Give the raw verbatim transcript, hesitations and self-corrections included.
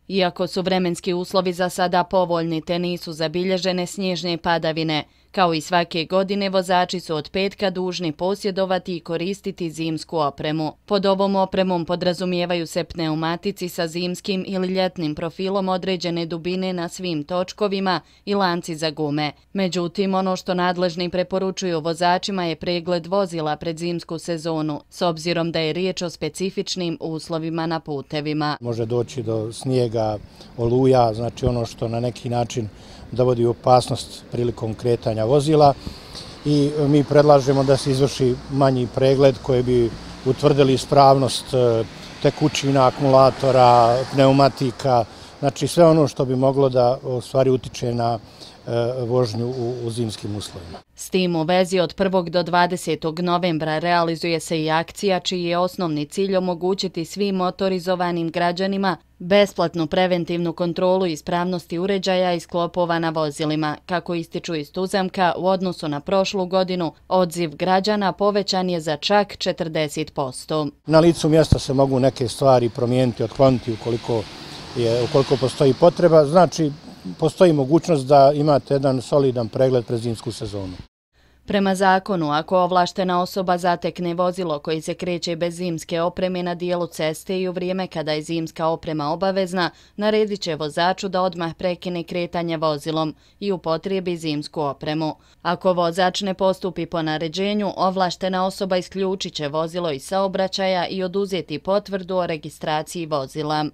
Iako su vremenski uslovi za sada povoljni te nisu zabilježene snježne padavine, kao i svake godine vozači su od petka dužni posjedovati i koristiti zimsku opremu. Pod ovom opremom podrazumijevaju se pneumatici sa zimskim ili ljetnim profilom određene dubine na svim točkovima i lanci za gume. Međutim, ono što nadležni preporučuju vozačima je pregled vozila pred zimsku sezonu, s obzirom da je riječ o specifičnim uslovima na putevima. Može doći do snijega, oluja, znači ono što na neki način dovodi u opasnost prilikom kretanja vozila i mi predlažemo da se izvrši manji pregled koji bi utvrdili ispravnost tekućina, akumulatora, pneumatika, znači sve ono što bi moglo da u stvari utiče na vožnju u zimskim uslovima. S tim u vezi od prvog do dvadesetog novembra realizuje se i akcija čiji je osnovni cilj omogućiti svim motorizovanim građanima besplatnu preventivnu kontrolu ispravnosti uređaja i sklopova na vozilima. Kako ističu iz Tuzemka, u odnosu na prošlu godinu, odziv građana povećan je za čak četrdeset posto. Na licu mjesta se mogu neke stvari promijeniti, otkloniti ukoliko, je, ukoliko postoji potreba, znači postoji mogućnost da imate jedan solidan pregled pred zimsku sezonu. Prema zakonu, ako ovlaštena osoba zatekne vozilo koji se kreće bez zimske opreme na dijelu ceste i u vrijeme kada je zimska oprema obavezna, naredit će vozaču da odmah prekine kretanje vozilom i upotrijebi zimsku opremu. Ako vozač ne postupi po naređenju, ovlaštena osoba isključit će vozilo iz saobraćaja i oduzeti potvrdu o registraciji vozila.